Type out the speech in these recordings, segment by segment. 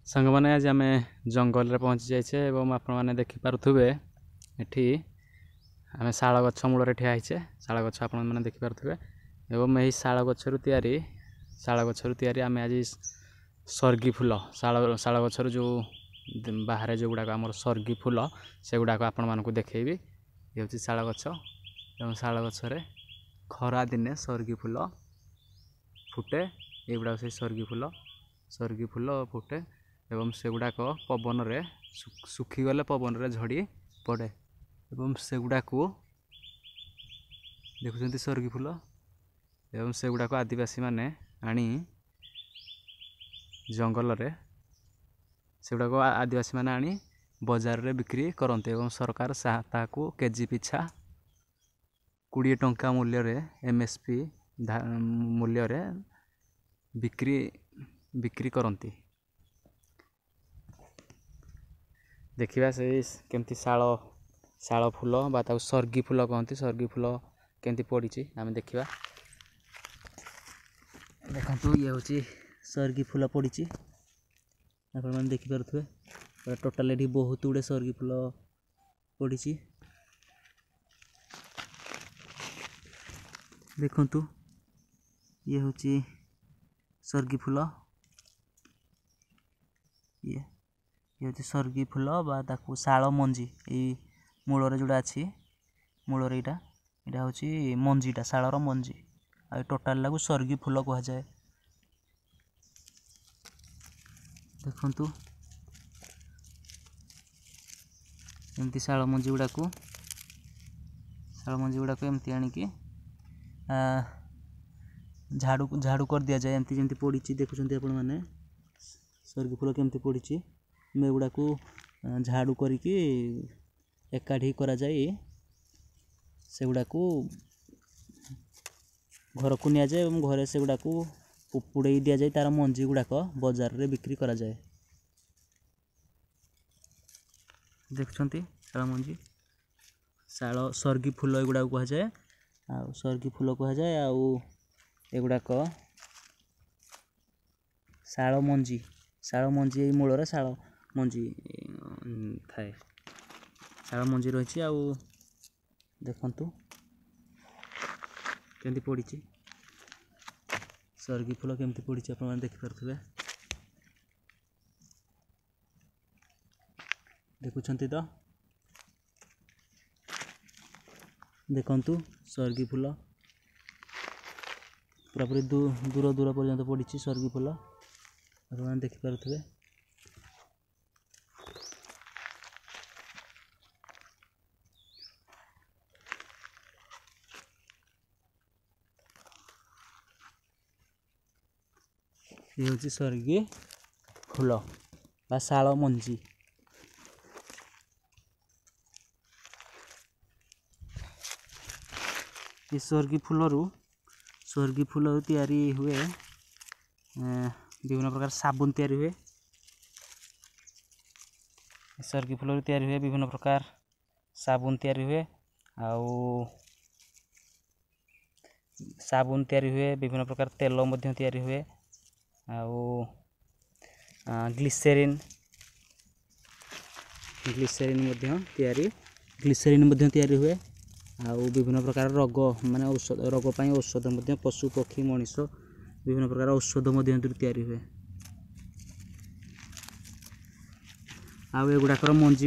ସାଙ୍ଗମାନେ, ଆଜି ଆମେ ଜଙ୍ଗଲରେ ପହଞ୍ଚି ଯାଇଛେ ଏବଂ ଆପଣମାନେ ଦେଖିପାରୁଥିବେ ଏଠି ଆମେ ଶାଳ ଗଛ ମୂଳରେ ଠିଆ ହେଇଛେ। ଶାଳ ଗଛ ଆପଣମାନେ ଦେଖିପାରୁଥିବେ ଏବଂ ଏହି ଶାଳ ଗଛରୁ ତିଆରି ଆମେ ଆଜି ସର୍ଗି ଫୁଲ, ଶାଳ ଗଛରୁ ଯେଉଁ ବାହାରେ ଯେଉଁଗୁଡ଼ାକ ଆମର ସର୍ଗି ଫୁଲ, ସେଗୁଡ଼ାକ ଆପଣମାନଙ୍କୁ ଦେଖେଇବି। ଇଏ ହେଉଛି ଶାଳ ଗଛ ଏବଂ ଶାଳ ଗଛରେ ଖରା ଦିନେ ସର୍ଗି ଫୁଲ ଫୁଟେ। ଏଗୁଡ଼ାକ ସେଇ ସର୍ଗି ଫୁଲ ଫୁଟେ ଏବଂ ସେଗୁଡ଼ାକ ପବନରେ ଶୁଖିଗଲେ ପବନରେ ଝଡ଼ି ପଡ଼େ ଏବଂ ସେଗୁଡ଼ାକୁ ଦେଖୁଛନ୍ତି ସର୍ଗି ଫୁଲ ଏବଂ ସେଗୁଡ଼ାକ ଆଦିବାସୀମାନେ ଆଣି ଜଙ୍ଗଲରେ, ସେଗୁଡ଼ାକ ଆଦିବାସୀମାନେ ଆଣି ବଜାରରେ ବିକ୍ରି କରନ୍ତି ଏବଂ ସରକାର ତାହାକୁ କେଜି ପିଛା 20 ଟଙ୍କା ମୂଲ୍ୟରେ, ଏମ୍ଏସ୍ପି ମୂଲ୍ୟରେ ବିକ୍ରି କରନ୍ତି। ଦେଖିବା ସେଇ କେମିତି ଶାଳ ଫୁଲ ବା ତାକୁ ସର୍ଗି ଫୁଲ କହନ୍ତି, ସର୍ଗି ଫୁଲ କେମିତି ପଡ଼ିଛି ଆମେ ଦେଖିବା। ଦେଖନ୍ତୁ, ଇଏ ହେଉଛି ସର୍ଗି ଫୁଲ ପଡ଼ିଛି, ଆପଣମାନେ ଦେଖିପାରୁଥିବେ। ପୁରା ଟୋଟାଲ୍ ଏଠି ବହୁତ ଗୁଡ଼ିଏ ସର୍ଗି ଫୁଲ ପଡ଼ିଛି। ଦେଖନ୍ତୁ, ଇଏ ହେଉଛି ସର୍ଗି ଫୁଲ। ଇଏ ହେଉଛି ସର୍ଗି ଫୁଲ ବା ତାକୁ ଶାଳ ମଞ୍ଜି। ଏଇ ମୂଳରେ ଯେଉଁଟା ଅଛି, ମୂଳରେ ଏଇଟା ହେଉଛି ମଞ୍ଜିଟା, ଶାଳର ମଞ୍ଜି। ଆଉ ଟୋଟାଲଟାକୁ ସର୍ଗି ଫୁଲ କୁହାଯାଏ। ଦେଖନ୍ତୁ, ଏମିତି ଶାଳ ମଞ୍ଜି ଗୁଡ଼ାକୁ ଏମିତି ଆଣିକି ଝାଡ଼ୁ ଝାଡ଼ୁ କରିଦିଆଯାଏ। ଏମିତି ଯେମିତି ପଡ଼ିଛି, ଦେଖୁଛନ୍ତି ଆପଣମାନେ ସର୍ଗି ଫୁଲ କେମିତି ପଡ଼ିଛି। ଏଗୁଡ଼ାକୁ ଝାଡ଼ୁ କରିକି ଏକାଠି କରାଯାଇ ସେଗୁଡ଼ାକୁ ଘରକୁ ନିଆଯାଏ ଏବଂ ଘରେ ସେଗୁଡ଼ାକୁ ପୋଡ଼େଇ ଦିଆଯାଏ। ତା'ର ମଞ୍ଜି ଗୁଡ଼ାକ ବଜାରରେ ବିକ୍ରି କରାଯାଏ। ଦେଖୁଛନ୍ତି ଶାଳ ମଞ୍ଜି, ଶାଳ ସର୍ଗି ଫୁଲ ଏଗୁଡ଼ାକୁ କୁହାଯାଏ ଆଉ ସର୍ଗି ଫୁଲ କୁହାଯାଏ। ଆଉ ଏଗୁଡ଼ାକ ଶାଳ ମଞ୍ଜି। ଶାଳ ମଞ୍ଜି, ଏଇ ମୂଳରେ ଶାଳ ମଞ୍ଜି ଥାଏ, ଶାଳ ମଞ୍ଜି ରହିଛି। ଆଉ ଦେଖନ୍ତୁ କେମିତି ପଡ଼ିଛି ସର୍ଗି ଫୁଲ, କେମିତି ପଡ଼ିଛି ଆପଣମାନେ ଦେଖିପାରୁଥିବେ। ଦେଖୁଛନ୍ତି ତ? ଦେଖନ୍ତୁ, ସର୍ଗି ଫୁଲ ପୁରାପୁରି ଦୂର ଦୂର ପର୍ଯ୍ୟନ୍ତ ପଡ଼ିଛି ସର୍ଗି ଫୁଲ, ଆପଣମାନେ ଦେଖିପାରୁଥିବେ। ଇଏ ହେଉଛି ସର୍ଗି ଫୁଲ ବା ଶାଳ ମଞ୍ଜି। ଏ ସର୍ଗି ଫୁଲରୁ ତିଆରି ହୁଏ ବିଭିନ୍ନ ପ୍ରକାର ସାବୁନ ତିଆରି ହୁଏ। ସର୍ଗି ଫୁଲରୁ ତିଆରି ହୁଏ ବିଭିନ୍ନ ପ୍ରକାର ସାବୁନ ତିଆରି ହୁଏ ଆଉ ସାବୁନ ତିଆରି ହୁଏ, ବିଭିନ୍ନ ପ୍ରକାର ତେଲ ମଧ୍ୟ ତିଆରି ହୁଏ ଆଉ ଗ୍ଲିସେରିନ୍ ମଧ୍ୟ ତିଆରି ହୁଏ। ଆଉ ବିଭିନ୍ନ ପ୍ରକାର ରୋଗ ମାନେ ଔଷଧ, ରୋଗ ପାଇଁ ଔଷଧ ମଧ୍ୟ, ପଶୁ ପକ୍ଷୀ ମଣିଷ ବିଭିନ୍ନ ପ୍ରକାର ଔଷଧ ମଧ୍ୟ ଏଥିରୁ ତିଆରି ହୁଏ। ଆଉ ଏଗୁଡ଼ାକର ମଞ୍ଜି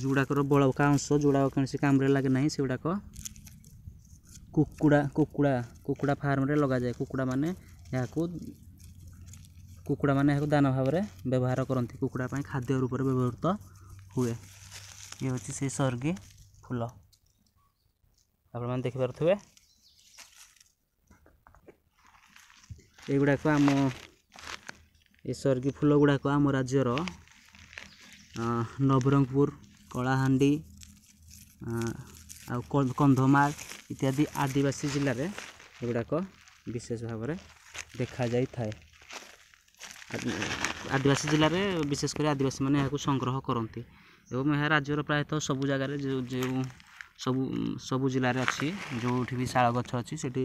ଗୁଡ଼ାକର ବଳକା ଅଂଶ ଯେଉଁଗୁଡ଼ାକ କୌଣସି କାମରେ ଲାଗେ ନାହିଁ, ସେଗୁଡ଼ାକ କୁକୁଡ଼ା ଫାର୍ମରେ ଲଗାଯାଏ। କୁକୁଡ଼ାମାନେ ଏହାକୁ ଦାନା ଭାବରେ ବ୍ୟବହାର କରନ୍ତି। କୁକୁଡ଼ା ପାଇଁ ଖାଦ୍ୟ ରୂପରେ ବ୍ୟବହୃତ ହୁଏ। ଇଏ ହେଉଛି ସେଇ ସର୍ଗି ଫୁଲ, ଆପଣମାନେ ଦେଖିପାରୁଥିବେ। ଏଗୁଡ଼ାକ ଆମ ଏ ସର୍ଗି ଫୁଲ ଗୁଡ଼ାକ ଆମ ରାଜ୍ୟର ନବରଙ୍ଗପୁର, କଳାହାଣ୍ଡି ଆଉ କନ୍ଧମାଳ ଇତ୍ୟାଦି ଆଦିବାସୀ ଜିଲ୍ଲାରେ ଏଗୁଡ଼ାକ ବିଶେଷ ଭାବରେ ଦେଖାଯାଇଥାଏ। ଆଦିବାସୀ ଜିଲ୍ଲାରେ ବିଶେଷ କରି ଆଦିବାସୀମାନେ ଏହାକୁ ସଂଗ୍ରହ କରନ୍ତି ଏବଂ ଏହା ରାଜ୍ୟର ପ୍ରାୟତଃ ସବୁ ଜାଗାରେ, ଯେଉଁ ଯେଉଁ ସବୁ ସବୁ ଜିଲ୍ଲାରେ ଅଛି। ଯେଉଁଠି ବି ଶାଳ ଗଛ ଅଛି, ସେଠି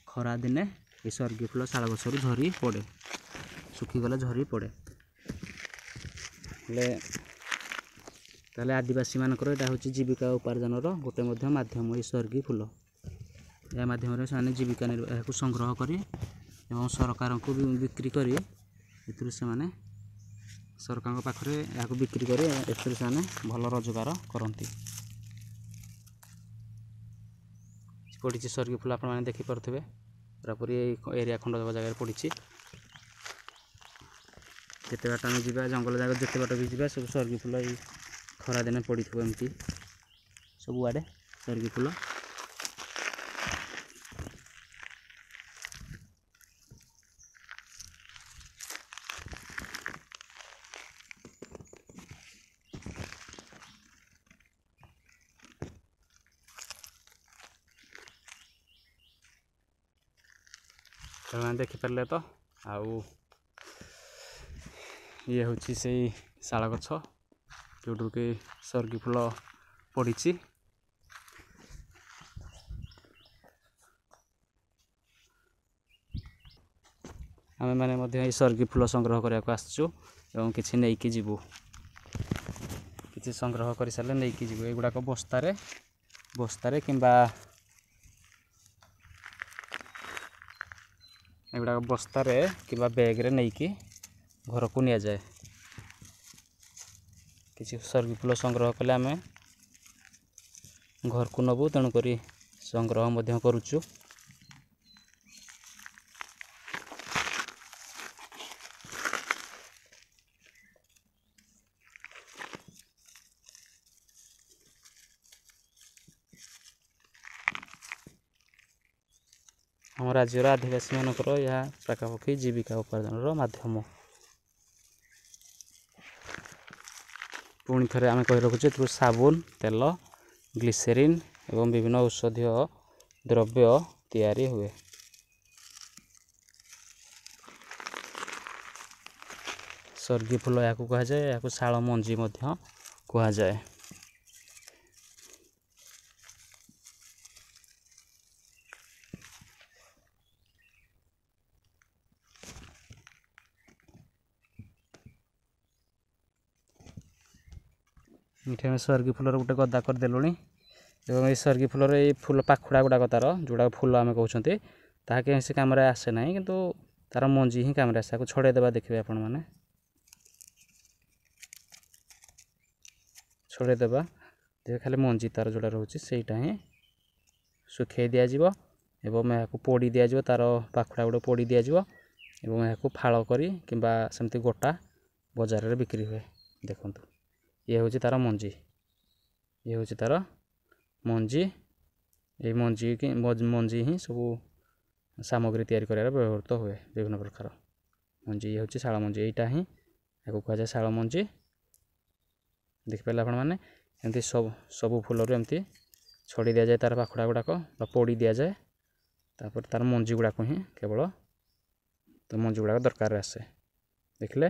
ଖରାଦିନେ ଏ ସର୍ଗି ଫୁଲ ଶାଳ ଗଛରୁ ଝରି ପଡ଼େ, ଶୁଖିଗଲେ ଝରି ପଡ଼େ। ହେଲେ ତାହେଲେ ଆଦିବାସୀମାନଙ୍କର ଏଇଟା ହେଉଛି ଜୀବିକା ଉପାର୍ଜନର ଗୋଟେ ମଧ୍ୟ ମାଧ୍ୟମ, ଏଇ ସର୍ଗି ଫୁଲ। ଏହା ମାଧ୍ୟମରେ ସେମାନେ ଜୀବିକା ଏହାକୁ ସଂଗ୍ରହ କରି ଏବଂ ସରକାରଙ୍କୁ ବିକ୍ରି କରି ଏଥିରୁ ସେମାନେ ସରକାରଙ୍କ ପାଖରେ ଏହାକୁ ବିକ୍ରି କରି ଏଥିରୁ ସେମାନେ ଭଲ ରୋଜଗାର କରନ୍ତି। ପଡ଼ିଛି ସର୍ଗି ଫୁଲ, ଆପଣମାନେ ଦେଖିପାରୁଥିବେ ପୁରାପୁରି ଏଇ ଏରିଆ ଖଣ୍ଡ ଜାଗାରେ ପଡ଼ିଛି। ଯେତେ ବାଟ ଆମେ ଯିବା ଜଙ୍ଗଲ ଜାଗା, ଯେତେ ବାଟ ବି ଯିବା ସବୁ ସର୍ଗି ଫୁଲ ଏଇ ଖରାଦିନେ ପଡ଼ିଥିବ ଏମିତି ସବୁଆଡ଼େ ସର୍ଗି ଫୁଲ। ସେମାନେ ଦେଖିପାରିଲେ ତ। ଆଉ ଇଏ ହେଉଛି ସେଇ ଶାଳ ଗଛ ଯେଉଁଠୁ କି ସର୍ଗି ଫୁଲ ପଡ଼ିଛି। ଆମେମାନେ ମଧ୍ୟ ଏଇ ସର୍ଗି ଫୁଲ ସଂଗ୍ରହ କରିବାକୁ ଆସିଛୁ ଏବଂ କିଛି ନେଇକି ଯିବୁ। କିଛି ସଂଗ୍ରହ କରିସାରିଲେ ନେଇକି ଯିବୁ। ଏଗୁଡ଼ାକ ବସ୍ତାରେ କିମ୍ବା ଏଗୁଡ଼ାକ ବସ୍ତାରେ କିମ୍ବା ବ୍ୟାଗ୍ରେ ନେଇକି ଘରକୁ ନିଆଯାଏ। କିଛି ସର୍ଗି ଫୁଲ ସଂଗ୍ରହ କଲେ ଆମେ ଘରକୁ ନେବୁ, ତେଣୁକରି ସଂଗ୍ରହ ମଧ୍ୟ କରୁଛୁ। ଆମ ରାଜ୍ୟର ଆଦିବାସୀମାନଙ୍କର ଏହା ପାଖାପାଖି ଜୀବିକା ଉପାର୍ଜନର ମାଧ୍ୟମ। ପୁଣି ଥରେ ଆମେ କହି ରଖୁଛୁ, ଏଥିରୁ ସାବୁନ, ତେଲ, ଗ୍ଲିସେରିନ୍ ଏବଂ ବିଭିନ୍ନ ଔଷଧୀୟ ଦ୍ରବ୍ୟ ତିଆରି ହୁଏ। ସର୍ଗି ଫୁଲ ଏହାକୁ କୁହାଯାଏ, ଏହାକୁ ଶାଳ ମଞ୍ଜି ମଧ୍ୟ କୁହାଯାଏ। ଏଠି ଆମେ ସର୍ଗି ଫୁଲର ଗୋଟେ ଗଦା କରିଦେଲୁଣି ଏବଂ ଏଇ ସର୍ଗି ଫୁଲର ଏଇ ଫୁଲ ପାଖୁଡ଼ା ଗୁଡ଼ାକ ତାର ଯେଉଁଟାକ ଫୁଲ ଆମେ କହୁଛନ୍ତି, ତାହା କୌଣସି କାମରେ ଆସେ ନାହିଁ, କିନ୍ତୁ ତାର ମଞ୍ଜି ହିଁ କାମରେ ଆସେ। ତାକୁ ଛଡ଼େଇ ଦେବା, ଦେଖିବେ ଆପଣମାନେ, ଛଡ଼େଇ ଦେବା, ଦେଖିବେ ଖାଲି ମଞ୍ଜି ତାର ଯେଉଁଟା ରହୁଛି ସେଇଟା ହିଁ ଶୁଖେଇ ଦିଆଯିବ ଏବଂ ଏହାକୁ ପୋଡ଼ି ଦିଆଯିବ, ତାର ପାଖୁଡ଼ା ଗୁଡ଼ା ପୋଡ଼ି ଦିଆଯିବ ଏବଂ ଏହାକୁ ଫାଳ କରି କିମ୍ବା ସେମିତି ଗୋଟା ବଜାରରେ ବିକ୍ରି ହୁଏ। ଦେଖନ୍ତୁ, ଇଏ ହେଉଛି ତାର ମଞ୍ଜି, ଇଏ ହେଉଛି ତାର ମଞ୍ଜି। ଏଇ ମଞ୍ଜି ହିଁ ସବୁ ସାମଗ୍ରୀ ତିଆରି କରିବାରେ ବ୍ୟବହୃତ ହୁଏ, ବିଭିନ୍ନ ପ୍ରକାର ମଞ୍ଜି। ଇଏ ହେଉଛି ଶାଳ ମଞ୍ଜି, ଏଇଟା ହିଁ ଏହାକୁ କୁହାଯାଏ ଶାଳ ମଞ୍ଜି। ଦେଖିପାରିଲେ ଆପଣମାନେ, ଏମିତି ସବୁ ଫୁଲରୁ ଏମିତି ଛଡ଼େଇ ଦିଆଯାଏ ତାର ପାଖୁଡ଼ା ଗୁଡ଼ାକ ବା ପୋଡ଼ି ଦିଆଯାଏ, ତାପରେ ତାର ମଞ୍ଜି ଗୁଡ଼ାକ ହିଁ କେବଳ ତ ମଞ୍ଜି ଗୁଡ଼ାକ ଦରକାରରେ ଆସେ। ଦେଖିଲେ